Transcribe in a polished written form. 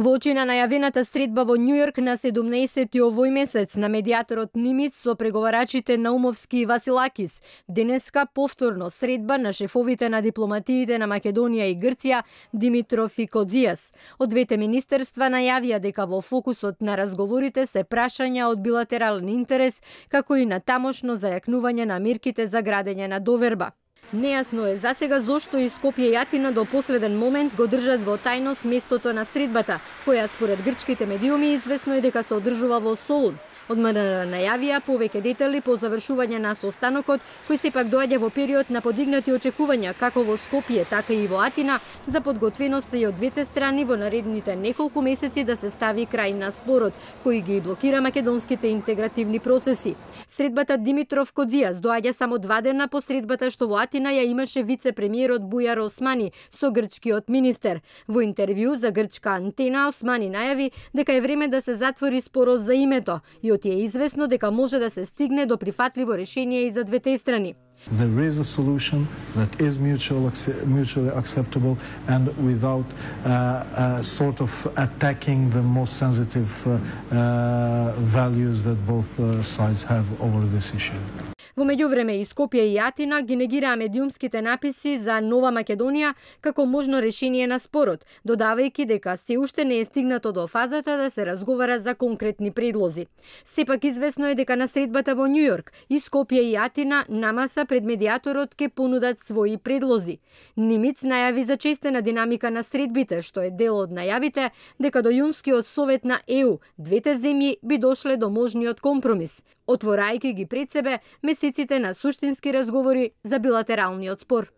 Во очи на најавената средба во Њујорк на 17 овој месец на медијаторот Нимиц со преговарачите Наумовски и Василакис, денеска повторно средба на шефовите на дипломатиите на Македонија и Грција Димитров и Кодзијас. Од двете министерства најавија дека во фокусот на разговорите се прашања од билатерален интерес, како и на тамошно зајакнување на мерките за градење на доверба. Нејасно е засега зошто и Скопје и Атина до последен момент го држат во тајност местото на средбата, која според грчките медиуми известно е дека се одржува во Солун. Од МНР најавија повеќе детали по завршување на состанокот, кој сепак доаѓа во период на подигнати очекувања како во Скопје, така и во Атина за подготвеноста и од двете страни во наредните неколку месеци да се стави крај на спорот, кој ги блокира македонските интегративни процеси. Средбата Димитров Кодзијас доаѓа само 2 дена по средбата што во Атина ја имаше вице-премиерот Бујар Османи со грчкиот министер. Во интервју за грчка антена Османи најави дека е време да се затвори спорот за името и од е известно дека може да се стигне до прифатливо решение и за двете страни. There is a solution that is mutually acceptable and without sort of attacking the most sensitive values that both sides have over this issue. Во меѓувреме и Скопје и Атина ги негираа медиумските написи за Нова Македонија како можно решение на спорот, додавајќи дека се уште не е стигнато до фазата да се разговара за конкретни предлози. Сепак известно е дека на средбата во Њујорк и Скопје и Атина намаса пред медијаторот ке понудат своји предлози. Нимиц најави за честена динамика на средбите, што е дел од најавите дека до јунскиот совет на ЕУ двете земји би дошле до можниот компромис, отворајќи ги пред себе месеците на суштински разговори за билатералниот спор.